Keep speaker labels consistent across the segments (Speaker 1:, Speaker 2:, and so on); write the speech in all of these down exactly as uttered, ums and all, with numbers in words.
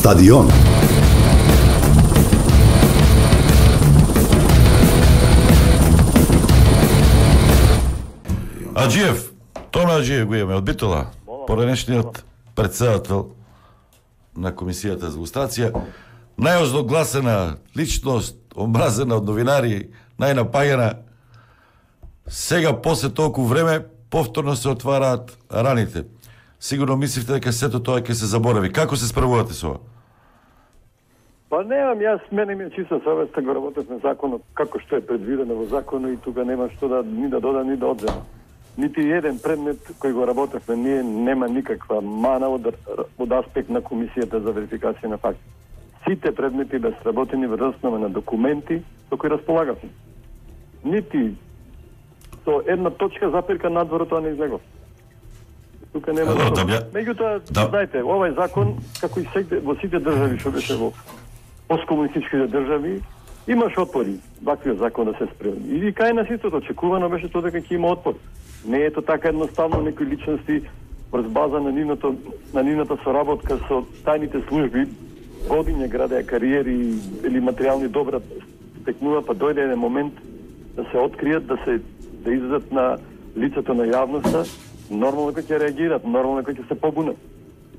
Speaker 1: Стадион.
Speaker 2: Аџиев, Томе Аџиев го имаме од Битола, поранешниот председател на Комисијата за лустрација, најозногласена личност, омразена од новинари, најнапаѓана. Сега, после толку време, повторно се отвараат раните. Сигурно мислите дека сето тоа ќе се заборави. Како се справувате со ова?
Speaker 3: Па немам, јас мене ми е чиста совеста, го работев на законот како што е предвидено во законот и тука нема што да ни да дода, ни да одзема. Нити еден предмет кој го работевме ние нема никаква мана од, од аспект на Комисијата за верификација на факти. Сите предмети беа сработени врз основа на документи со кои располагавме. Нити со една точка запирка надвор тоа не излегов. Тука нема.
Speaker 2: Да, да, да,
Speaker 3: Меѓутоа,
Speaker 2: да.
Speaker 3: знаете, овој закон, како и секде, во сите држави што беше во посткомунистичките држави, имаш отпори ваквиот закон да се спреми. И кај нас истото очекувано беше тоа дека ќе има отпор. Не е тоа така едноставно некои личности врз база на нивното на нивната соработка со тајните служби годиња градеа кариери или материјални добра стекнува, па дојде еден момент да се откријат, да се да излезат на лицето на јавноста, нормално кој ќе реагираат, нормално кој ќе се побунат.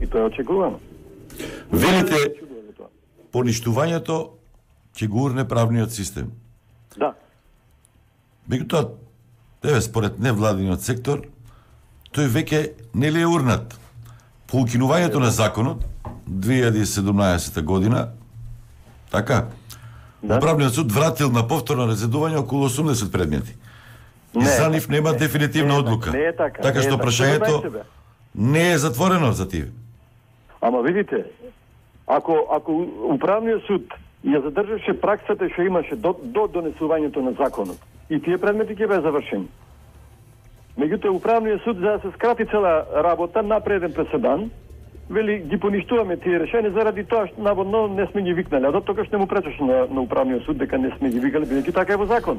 Speaker 3: И тоа е очекувано.
Speaker 2: Велите, поништувањето ќе го урне правниот систем.
Speaker 3: Да.
Speaker 2: Меѓутоа, еве според невладиниот сектор, тој веќе не ли е урнат. По укинувањето на законот две илјади и седумнаесета година, така,
Speaker 3: Да.
Speaker 2: Управниот суд вратил на повторно разредување околу осумдесет предмети. И
Speaker 3: Не,
Speaker 2: за нив нема
Speaker 3: не,
Speaker 2: дефинитивна
Speaker 3: не е
Speaker 2: одлука.
Speaker 3: така, не е така,
Speaker 2: Така
Speaker 3: не е
Speaker 2: што
Speaker 3: така.
Speaker 2: прашањето
Speaker 3: Што знаете,
Speaker 2: не е затворено за тие.
Speaker 3: Ама видите, ако ако управниот суд ја задржаше праксата што имаше до, до донесувањето на законот, и тие предмети ќе беа завршени. Меѓутоа управниот суд, за да се скрати цела работа, направи еден преседан, вели ги поништуваме тие решени заради тоа што наводно не сме ги викнали, а до тогаш не му пречеше на, на управниот суд дека не сме ги викали, бидејќи така е во закон.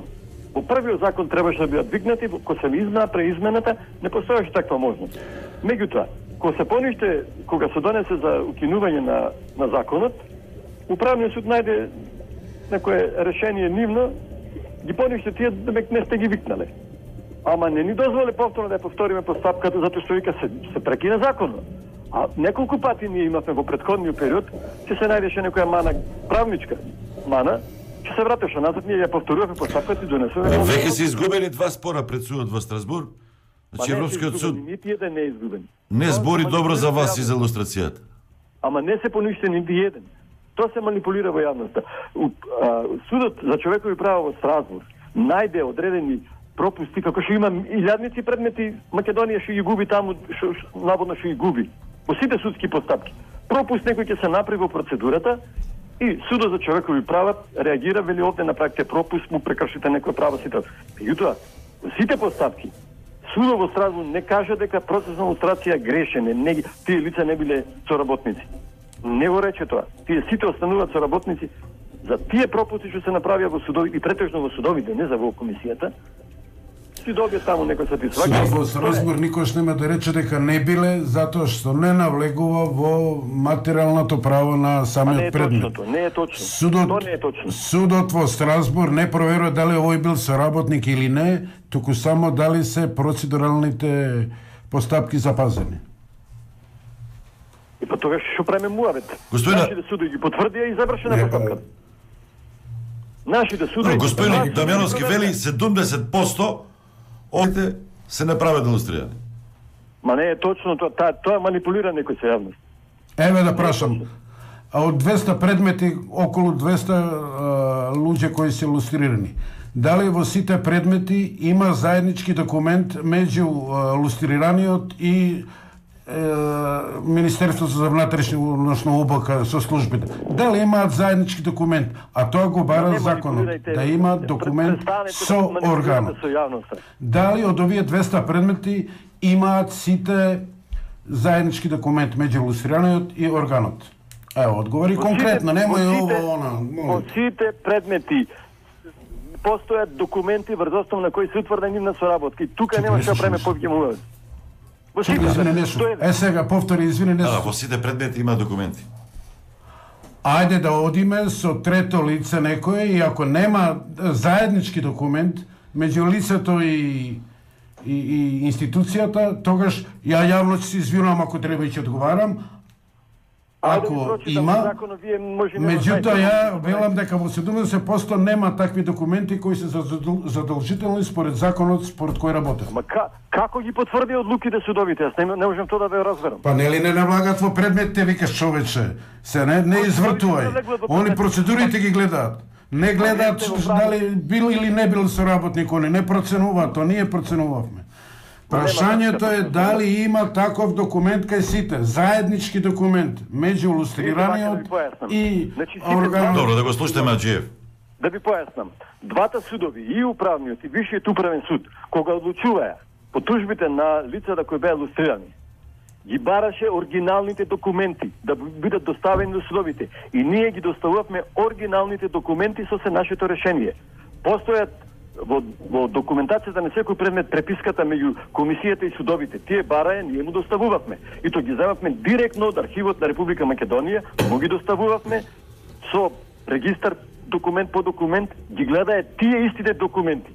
Speaker 3: Во првиот закон требаше да бидат викнати, кога се измена преизмената, не постоеше таква можност. Меѓутоа, кога се пониште, кога се донесе за укинување на, на законот, управниот суд најде некое решение нивно, ги пониште тие, дека не сте ги викнале. Ама не ни дозволе повторно да ја повториме постапката, затоа што вика се, се прекина законот. А неколку пати ние имавме во претходниот период, че се најдеше некоја мана, правничка мана, че се вратеше назад, ние ја повторуваме постапката и донесуваме.
Speaker 2: Веќе се изгубени два спора пред судот во Страсбург. Значи Европскиот суд
Speaker 3: нити еден не е изгубен.
Speaker 2: не збори
Speaker 3: Тоа
Speaker 2: добро за вас и
Speaker 3: јавност.
Speaker 2: за илустрацијата.
Speaker 3: Ама не се поништени нити еден. Тоа се манипулира во јавноста. У- а, Судот за човекови права во Страсбург најде одредени пропусти, како што има илјадници предмети, Македонија што ги губи таму, што што- наводно што ги губи. Во сите судски постапки. Пропуст некој ќе се направи во процедурата и Судот за човекови права реагира, вели овде направите пропуст, му прекршите некој право сите. Меѓутоа, во сите постапки Судот во Страсбург не кажа дека процесна лустрација грешен е, не, тие лица не биле соработници. Не го рече тоа. Тие сите остануваат соработници за тие пропусти што се направија во судови и претежно во судовите, не за во комисијата. Си добија таму некој сатисфакција.
Speaker 4: Судот во Страсбург никош нема да рече дека не биле затоа што не навлегува во материјалното право на
Speaker 3: А не
Speaker 4: самиот
Speaker 3: е
Speaker 4: предмет.
Speaker 3: точно тоа, не е точно.
Speaker 4: Судот,
Speaker 3: Тоа не е точно.
Speaker 4: судот во Страсбург не проверува дали овој бил соработник или не, туку само дали се процедуралните постапки запазени.
Speaker 3: И па тогаш што правиме муавет?
Speaker 2: Господина-
Speaker 3: Нашите судови ги потврдија и завршена
Speaker 4: Не,
Speaker 3: постапката. Нашите судови...
Speaker 2: Господин
Speaker 3: Нашите
Speaker 2: Дамјановски
Speaker 3: судови-
Speaker 2: вели седумдесет проценти овде се не прават илустрирани.
Speaker 3: Ма не е точно тоа, тоа, тоа манипулира некој се јавност.
Speaker 4: Еве да прашам, а од двеста предмети, околу двеста а, луѓе кои се илустрирани, дали во сите предмети има заеднички документ меѓу а, илустрираниот и Министерството за внатрешни, односно У Б К со службите? Дали имаат заеднички документ? А тоа го бара законот, да има документ со органот.
Speaker 3: Со јавноста.
Speaker 4: Дали од овие двеста предмети имаат сите заеднички документ меѓу илустрираниот и органот? Ево, одговори
Speaker 3: Во
Speaker 4: конкретно,
Speaker 3: сите-
Speaker 4: немој
Speaker 3: во сите-
Speaker 4: ово, она.
Speaker 3: Во
Speaker 4: молам.
Speaker 3: сите предмети постојат документи врз основа на кои се утврди нивна соработка. И тука нема што правиме повеќе муавет. Во сите.
Speaker 4: Извини, не слушам.
Speaker 3: Тоа е-
Speaker 4: Е сега повтори, извини, не
Speaker 2: Да,
Speaker 4: слушам.
Speaker 2: во сите предмети има документи.
Speaker 4: ајде да одиме со трето лице некое и ако нема заеднички документ меѓу лицето и и, и институцијата, тогаш ја јавно ќе се извинувам ако треба и ќе одговарам. Ако има, меѓутоа ја велам дека во седумдесет проценти нема такви документи кои се задолжителни според законот според кој работи.
Speaker 3: Ама како ги потврди одлуките судовите? Јас не, не можам тоа да ве разберам.
Speaker 4: Па нели не навлагат во предметите, викаш човече. Се не не извртувај. Они процедурите ги гледаат. Не гледаат дали бил или не бил соработник, они не проценуваат, тоа ние проценувавме. Прашањето е дали има таков документ кај сите, заеднички документ меѓу лустрираниот и органот.
Speaker 2: Добро, да го слушаме Аџиев.
Speaker 3: Да ви појаснам. Двата судови, и управниот и Висшиот управен суд, кога одлучуваа по тужбите на лицата кои беа лустрирани, ги бараше оригиналните документи да бидат доставени до судовите. И ние ги доставувавме оригиналните документи со се нашето решение. Постојат во, во документацијата на секој предмет преписката меѓу комисијата и судовите. Тие бараја, ние му доставувавме. И то ги земавме директно од архивот на Република Македонија, му ги доставувавме со регистар документ по документ, ги гледаја тие истите документи.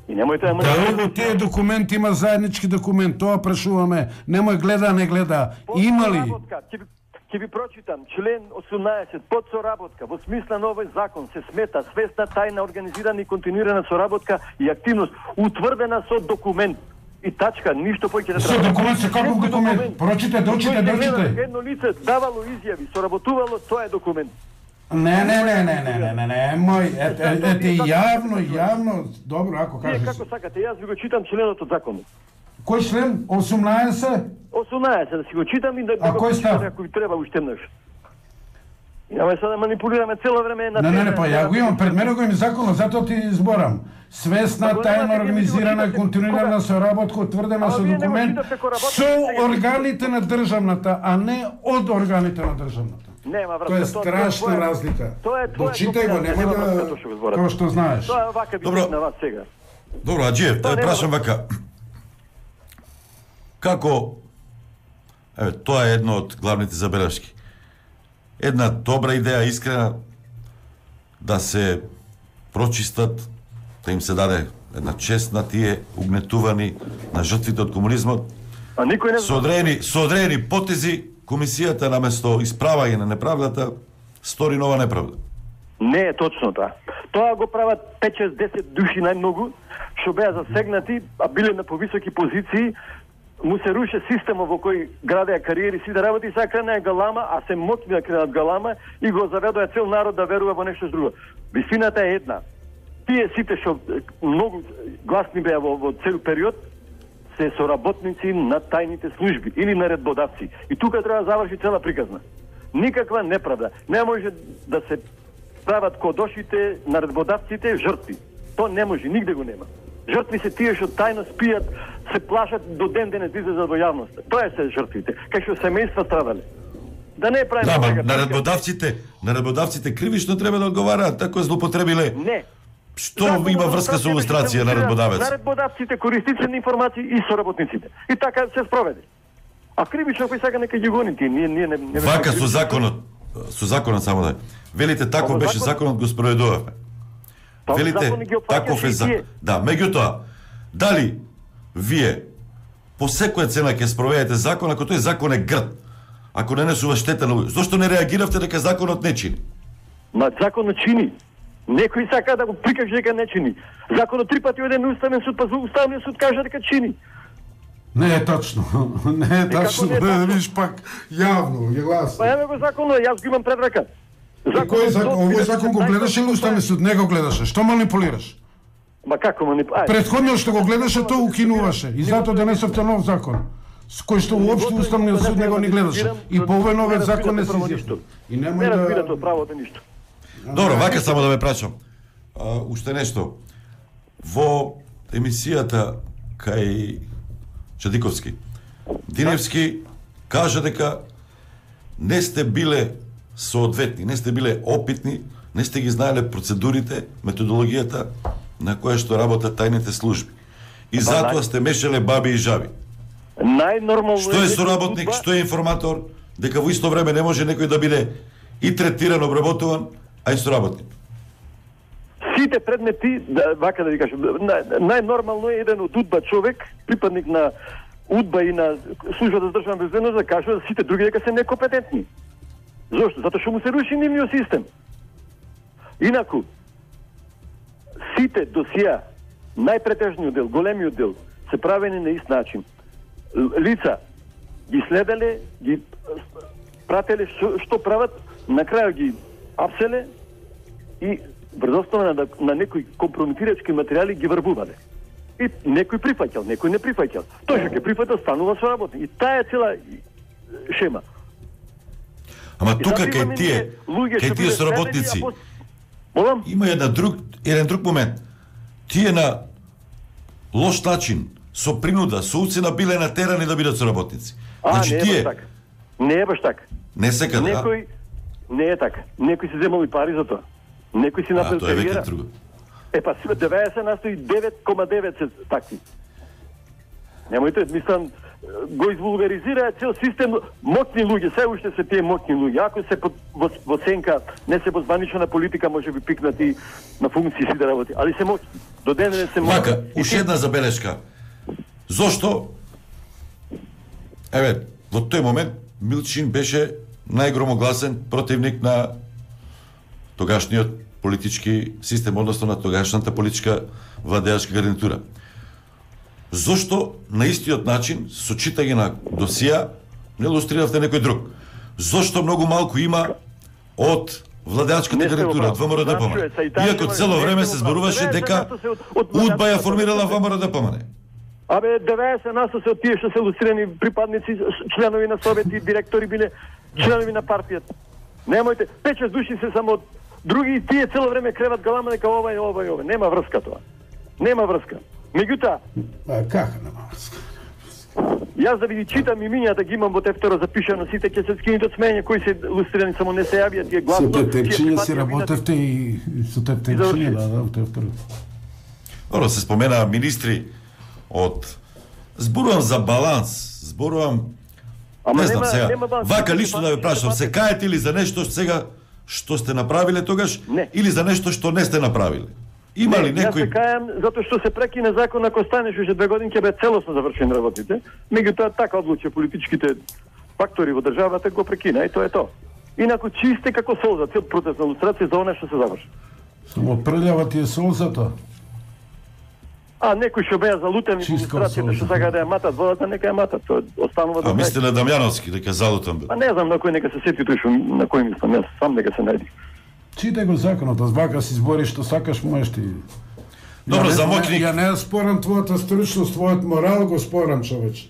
Speaker 3: И немојте да
Speaker 4: Дали во тие документи има заеднички документ? Тоа прашуваме. Немој гледа, не гледа. Има ли?
Speaker 3: Ќе ви прочитам член осумнаесет под соработка во смисла на овој закон се смета свесна, тајна, организирана и континуирана соработка и активност утврдена со документ. И тачка, ништо повеќе не треба.
Speaker 4: Со документ, со каков документ? Прочите, дочите, дочите.
Speaker 3: Едно лице давало изјави, соработувало, тоа е документ.
Speaker 4: Не, не, не, не, не, не, не, не, мој, ете, ете, јавно, јавно, добро, ако кажеш.
Speaker 3: Вие како сакате, јас ви го читам членот од законот.
Speaker 4: Кој член? осумнаесет?
Speaker 3: осумнаесет, да си го читам и да, да го читам ако ви треба уште еднаш. Имаме сега да манипулираме цело време на...
Speaker 4: Не, не, не, па ја го имам, пред мене го имам законот, затоа ти изборам. Свесна, тајна, организирана, континуирана соработка, утврдена со документ со органите на државната, а не од органите на државната.
Speaker 3: Нема врска.
Speaker 4: Тоа е страшна разлика. Дочитај го, нема да... Како што знаеш.
Speaker 3: Тоа е вака би на вас сега.
Speaker 2: Добро, Аџиев, да прашам вака. Како, еве, тоа е едно од главните забелешки. Една добра идеја, искрена, да се прочистат, да им се даде една чест на тие угнетувани, на жртвите од комунизмот.
Speaker 3: А никој не
Speaker 2: со одредени, со одредени потези, комисијата наместо исправање на неправдата, стори нова неправда.
Speaker 3: Не е точно тоа. Тоа го прават пет шест десет души најмногу, што беа засегнати, а биле на повисоки позиции, му се руше системот во кој градеа кариери, си да работи, сега кренеа галама, а се моќни да кренат галама и го заведоа цел народ да верува во нешто друго. Вистината е една. Тие сите што многу гласни беа во, во цел период, се соработници на тајните служби или наредбодавци. И тука треба да заврши цела приказна. Никаква неправда. Не може да се прават кодошите наредбодавците жртви. То не може, нигде го нема. Жртви се тие што тајно спијат, се плашат до ден денес да излезат во јавноста. Тоа се жртвите, кај што семејства страдале. Да не правиме
Speaker 2: Да,
Speaker 3: сега.
Speaker 2: наредбодавците, наредбодавците кривично треба да одговараат, тако злоупотребиле.
Speaker 3: Не.
Speaker 2: Што има врска со илустрација на наредбодавец?
Speaker 3: Наредбодавците, користици на информации и соработниците. И така се спроведе. А кривично кој сега нека ги гони тие, ние ние не не
Speaker 2: Вака со законот, со законот само да. Велите таков беше законот, го спроведувавме. Велите таков е закон. Да, меѓутоа, дали вие по секоја цена ќе спроведете закон ако тој закон е грд? Ако не несува штета на луѓе, зошто не реагиравте дека законот не чини?
Speaker 3: Ма законот чини. Некој сака да го прикаже дека не чини. Законот три пати оде на Уставен суд, па Уставниот суд кажа дека чини.
Speaker 4: Не е точно. Не е точно. Не, виж пак јавно, ја гласно.
Speaker 3: Па еве го законот, јас го имам пред рака.
Speaker 4: Кој закон? Овој закон го гледаше или Уставниот суд? Не го гледаше. Што манипулираш?
Speaker 3: Ма како манипулираш?
Speaker 4: Предходниот што го гледаше, тоа укинуваше. И затоа денесовте нов закон. С кој што уопшто Уставниот суд не го ни гледаше. И по овој новиот закон не се изјасни. И
Speaker 3: Не
Speaker 4: немој
Speaker 3: разбирате
Speaker 4: да...
Speaker 3: од правото ништо.
Speaker 2: Добро, вака само да ме прашам. А, уште нешто. Во емисијата кај Чадиковски, Диневски кажа дека не сте биле соодветни, не сте биле опитни, не сте ги знаеле процедурите, методологијата на која што работат тајните служби. И затоа сте мешале баби и жаби.
Speaker 3: Најнормално
Speaker 2: Што е соработник, што е информатор, дека во исто време не може некој да биде и третиран, обработуван, а и соработник.
Speaker 3: Сите предмети, да, вака да ви кажам, најнормално е еден од УДБА човек, припадник на УДБА и на службата за државна безбедност, да кажува да сите други дека се некомпетентни. Зошто? Затоа што му се руши нивниот систем. Инаку, сите досија, најпретежниот дел, големиот дел, се правени на ист начин. Лица ги следеле, ги прателе што, што прават, на крај ги апселе и врз основа на, на некои компрометирачки материјали ги врбувале. И некој прифаќал, некој не прифаќал. Тој што ќе прифаќал станува соработник. И таа е цела шема.
Speaker 2: Ама тука кај тие, кај тие соработници,
Speaker 3: Молам?
Speaker 2: има една друг, еден друг момент. Тие на лош начин, со принуда, со уцена биле натерани да бидат соработници.
Speaker 3: А,
Speaker 2: значи,
Speaker 3: не е
Speaker 2: тие...
Speaker 3: баш така. Не е баш така.
Speaker 2: Не секаде, а?
Speaker 3: Некој не е така. Некој си земал и пари за тоа. Некој си
Speaker 2: А,
Speaker 3: направил
Speaker 2: тоа е веќе
Speaker 3: кариера.
Speaker 2: друго.
Speaker 3: Е па деветдесет на сто и девет кома девет се такви. Немојте, мислам, го извулгаризира цел систем, моќни луѓе, се уште се тие моќни луѓе. Ако се под, во, во сенка, не се во званична политика, може би пикнати на функции си да работи, али се моќни. До денес се моќни.
Speaker 2: Вака, уште една забелешка. Зошто? Еве, во тој момент Милчин беше најгромогласен противник на тогашниот политички систем, односно на тогашната политичка владеачка гарнитура. Зошто на истиот начин, со читање на досија, не илустриравте некој друг? Зошто многу малку има од владеачката гарнитура, од ВМРО-ДПМН? Иако цело време се зборуваше дека УДБА ја формирала ВМРО-ДПМН.
Speaker 3: Абе, деветдесет на сто се од тие што се илустрирани припадници, членови на совети, директори биле членови на партијата. Немојте, пет-шест души се само други и тие цело време креват галама дека ова и ова и ова. Нема врска тоа. Нема врска. Меѓутоа,
Speaker 4: А како нема врска?
Speaker 3: јас да ви ги читам имињата ги имам во тефтера запишано, сите ќе се скинете од смене кои се илустрирани, само не се јавија тие гласно.
Speaker 4: Со тефтерчиња си работевте и со тефтерчиња, да, да, тефтер.
Speaker 2: Добро, се споменаа министри од... Зборувам за баланс, зборувам...
Speaker 3: Ама
Speaker 2: не знам
Speaker 3: нема-
Speaker 2: сега,
Speaker 3: нема баланс.
Speaker 2: вака лично да ве
Speaker 3: Баланс,
Speaker 2: прашам,
Speaker 3: баланс.
Speaker 2: се каете ли за нешто сега што сте направиле тогаш,
Speaker 3: Не.
Speaker 2: или за нешто што не сте направиле? Има ли
Speaker 3: Не, Јас се
Speaker 2: некој...
Speaker 3: кајам затоа што се прекине закон, ако станеш уште две години ќе бе целосно завршени работите. Меѓутоа така одлучи политичките фактори во државата, го прекина и тоа е тоа. Инаку чисте како солза, цел процес на лустрација за она што се заврши.
Speaker 4: Само прљава ти е солзата.
Speaker 3: А некои што беа залутени во
Speaker 4: Чистка
Speaker 3: лустрацијата, што
Speaker 4: солза.
Speaker 3: сака да ја матат водата, нека ја матат, тоа останува
Speaker 2: А
Speaker 3: до крај.
Speaker 2: мислите на Дамјановски, дека залутан бил?
Speaker 3: А не знам на кој нека се сети тој што на кој мислам, јас сам нека се најди.
Speaker 4: Читай го законот, а вака си збориш што сакаш, можеш ти.
Speaker 2: Добро,
Speaker 4: Ја не-
Speaker 2: за моќник.
Speaker 4: Ја не спорам твојата стручност, твојот морал го спорам, човече.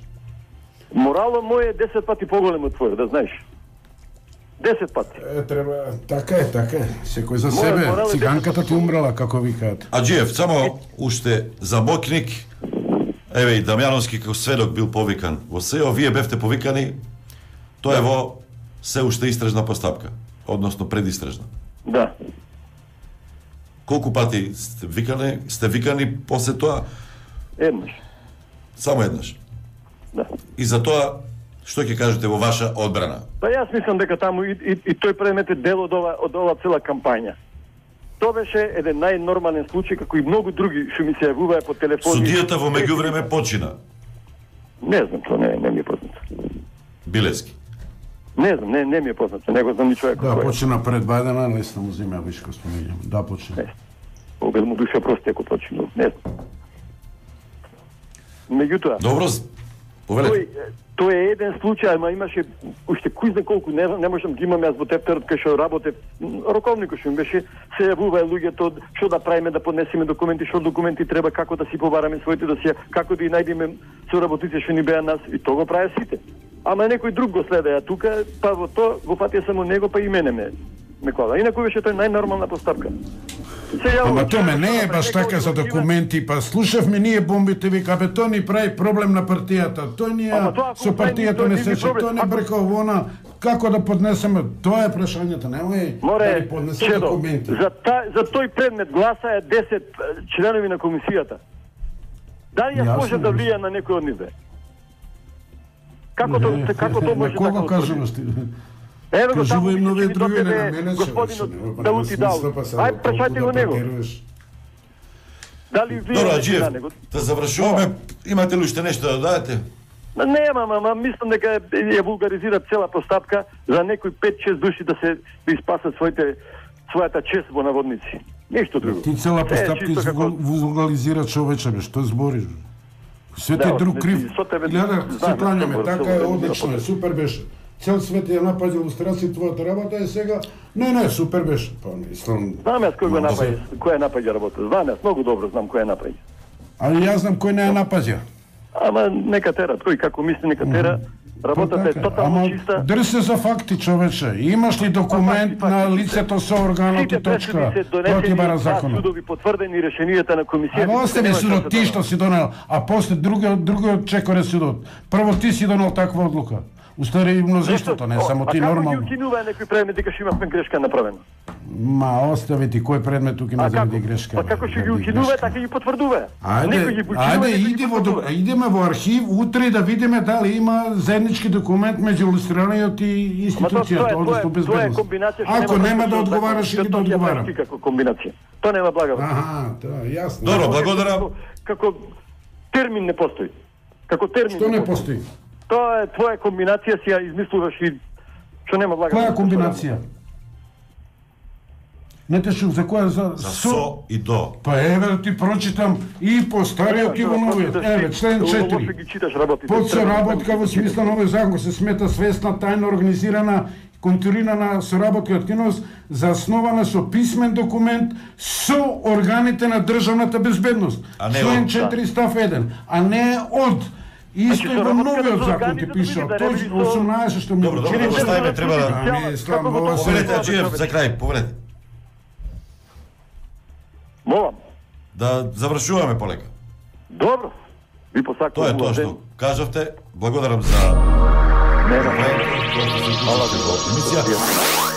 Speaker 3: Моралот мој е десет пати поголем од твојот, да знаеш. десет пати.
Speaker 4: Е, треба, така е, така е. Секој за
Speaker 3: Мојот
Speaker 4: себе.
Speaker 3: морал е
Speaker 4: Циганката
Speaker 3: десет
Speaker 4: ти умрела, како викаат.
Speaker 2: Аджиев, само уште за моќник, еве и Дамјановски како сведок бил повикан во СЕО, вие бевте повикани, тоа е во се уште истражна постапка, односно предистражна.
Speaker 3: Да.
Speaker 2: Колку пати сте викани, сте викани после тоа?
Speaker 3: Еднаш.
Speaker 2: Само еднаш.
Speaker 3: Да.
Speaker 2: И за тоа, што ќе кажете во ваша одбрана?
Speaker 3: Па јас мислам дека таму и, и, и тој предмет е дел од ова, од ова цела кампања. Тоа беше еден најнормален случај, како и многу други што ми се јавуваа по телефони.
Speaker 2: Судијата во меѓувреме почина.
Speaker 3: Не знам, тоа не, не ми е познато.
Speaker 2: Билески.
Speaker 3: Не знам, не, не ми е познато, не го знам ни човек.
Speaker 4: Да, почина пред Бајдена, лесно му земја вишко спомењам. Да, почина.
Speaker 3: Не. Обед му душа прости ако почина, не знам. Меѓутоа,
Speaker 2: Добро,
Speaker 3: тој,
Speaker 2: повелете.
Speaker 3: тој е еден случај, ама имаше уште кој знае колку, не знам, не можам да ги имам јас во тефтерот кај што работев, роковникот што ми беше, се јавуваа луѓето што да правиме, да поднесеме документи, што документи треба, како да си побараме своите досија, како да и најдеме соработници што ни беа нас, и тоа го прави сите. Ама некој друг го следеа тука, па во тоа го патија само него, па и мене ме ме кола. Инаку беше тоа најнормална постапка. Се јавува,
Speaker 4: Ама томе не е
Speaker 3: што
Speaker 4: баш
Speaker 3: некој
Speaker 4: така за
Speaker 3: отива-
Speaker 4: документи, па слушавме ние бомбите, вика, бе, тој ни прави проблем на партијата, тој ни
Speaker 3: Ама
Speaker 4: ја
Speaker 3: тоа ако
Speaker 4: со
Speaker 3: прави,
Speaker 4: партијата
Speaker 3: тој
Speaker 4: не
Speaker 3: не
Speaker 4: се
Speaker 3: би
Speaker 4: че,
Speaker 3: проблем.
Speaker 4: тој не
Speaker 3: Ако-
Speaker 4: брека овона, како да поднесеме, тоа е прашањето, немој да
Speaker 3: Море,
Speaker 4: ни поднесе
Speaker 3: Чедо,
Speaker 4: документи.
Speaker 3: за, та, за тој предмет гласаа десет членови на комисијата. Дали јас
Speaker 4: Јасно,
Speaker 3: можам да
Speaker 4: јасно.
Speaker 3: влијам на некој од нив? бе? Како
Speaker 4: Не,
Speaker 3: тоа како тоа
Speaker 4: на
Speaker 3: може
Speaker 4: кого
Speaker 3: така?
Speaker 4: кажуваш ти?
Speaker 3: Еве го
Speaker 4: Кажува
Speaker 3: таму,
Speaker 4: им нови
Speaker 3: више,
Speaker 4: други,
Speaker 3: тоа
Speaker 4: не
Speaker 3: тебе
Speaker 4: на мене,
Speaker 3: господинот
Speaker 4: човече, нема
Speaker 3: Даути дал.
Speaker 4: смисла, па само
Speaker 3: Ајде, прашајте го
Speaker 4: толку да
Speaker 3: него.
Speaker 4: претируваш.
Speaker 3: Дали вие
Speaker 2: Добро,
Speaker 3: на
Speaker 2: Аџиев,
Speaker 3: него?
Speaker 2: да завршуваме. Имате ли уште нешто да дадете?
Speaker 3: Нема, ама мислам дека ја вулгаризира цела постапка за некои пет-шест души да се да испасат своите својата чест во наводници. Ништо друго.
Speaker 4: Ти цела
Speaker 3: Се е
Speaker 4: постапка
Speaker 3: чисто како-
Speaker 4: вулгализира човече, бе, што збориш? бе? Свет е
Speaker 3: Да,
Speaker 4: друг
Speaker 3: не,
Speaker 4: крив.
Speaker 3: со тебе
Speaker 4: Гледа, се
Speaker 3: знаеме,
Speaker 4: кланяме,
Speaker 3: што
Speaker 4: така
Speaker 3: збориш,
Speaker 4: е,
Speaker 3: што
Speaker 4: одлично е, супер беше. Цел свет ја напаѓа илустрација твојата работа е сега. Не, не, супер беше. Па, мислам.
Speaker 3: Знам јас кој го
Speaker 4: Може.
Speaker 3: напаѓа, кој ја напаѓа работа. Знам јас, многу добро знам кој ја напаѓа.
Speaker 4: Али јас знам кој не ја напаѓа.
Speaker 3: Ама нека тера, тој како мисли нека тера. Работата е
Speaker 4: Така,
Speaker 3: тотално
Speaker 4: ама
Speaker 3: чиста.
Speaker 4: држи се за факти, човече. Имаш ли документ
Speaker 3: Факти,
Speaker 4: на
Speaker 3: факти,
Speaker 4: лицето со органот
Speaker 3: Сите
Speaker 4: и точка?
Speaker 3: пресуди се
Speaker 4: Тоа ти
Speaker 3: донесени
Speaker 4: бара
Speaker 3: на
Speaker 4: законот.
Speaker 3: судови потврдени решенијата на комисијата.
Speaker 4: Ама остави
Speaker 3: Нема
Speaker 4: судот,
Speaker 3: што
Speaker 4: ти
Speaker 3: се
Speaker 4: што си донел, а после другиот другиот чекоре судот. Прво ти си донел таква одлука. Устари и мнозинството, не
Speaker 3: О,
Speaker 4: само ти
Speaker 3: А како
Speaker 4: нормално.
Speaker 3: ги укинува некој предмет дека што имавме грешка направена?
Speaker 4: Ма остави ти кој предмет тука има
Speaker 3: А
Speaker 4: заради
Speaker 3: како?
Speaker 4: грешка.
Speaker 3: Па
Speaker 4: бе,
Speaker 3: како што ги
Speaker 4: заради
Speaker 3: укинува,
Speaker 4: грешка.
Speaker 3: така ги потврдува.
Speaker 4: Ајде,
Speaker 3: Некој ги починува,
Speaker 4: ајде
Speaker 3: некој ги
Speaker 4: иди во
Speaker 3: потврдува.
Speaker 4: до- идеме во архив утре да видиме дали има заеднички документ меѓу илустраниот и
Speaker 3: Ама тоа- тоа
Speaker 4: институцијата,
Speaker 3: е-
Speaker 4: односно
Speaker 3: тоа е
Speaker 4: безбедност.
Speaker 3: комбинација што
Speaker 4: Ако
Speaker 3: нема
Speaker 4: нема
Speaker 3: врска
Speaker 4: да
Speaker 3: со
Speaker 4: одговараш
Speaker 3: закон,
Speaker 4: или да
Speaker 3: што ќе
Speaker 4: одговарам.
Speaker 3: правиш како комбинација. Тоа нема блага. врска.
Speaker 4: Аха, тоа е јасно.
Speaker 2: Добро, благодарам.
Speaker 3: Како, како термин не постои. Како термин
Speaker 4: Што не постои?
Speaker 3: Тоа е твоја комбинација, си ја измислуваш и што нема блага.
Speaker 4: Која
Speaker 3: врска.
Speaker 4: комбинација? Не те шук, за која за
Speaker 2: За со и до.
Speaker 4: Па еве да ти прочитам и по стариот и во новиот. Еве член
Speaker 3: Лошо
Speaker 4: четири.
Speaker 3: ги читаш работите.
Speaker 4: Подсоработка во смисла на овој закон се смета свесна, тајно организирана, контурирана соработка и активност заснована со писмен документ со органите на државната безбедност.
Speaker 2: А не
Speaker 4: Член
Speaker 2: од-
Speaker 4: четири став еден, а не од. Исто и во
Speaker 3: соработка
Speaker 4: новиот
Speaker 3: со
Speaker 4: закон
Speaker 3: органите
Speaker 4: ти
Speaker 3: да
Speaker 4: пише,
Speaker 3: биде, да не
Speaker 4: точно
Speaker 3: би со-
Speaker 4: осумнаесет што ми
Speaker 2: Добро, добро,
Speaker 4: Чини-
Speaker 2: добро, ставиме, треба да...
Speaker 4: Ами, слам, ова се-
Speaker 2: Повелете, Аџиев, за крај, повелете.
Speaker 3: Молам.
Speaker 2: Да завршуваме полека.
Speaker 3: Добро. Ви посакувам.
Speaker 2: Тоа е тоа
Speaker 3: убав ден.
Speaker 2: што кажавте. Благодарам за
Speaker 3: Не, не.
Speaker 2: време, тоа што се уклучите во емисија.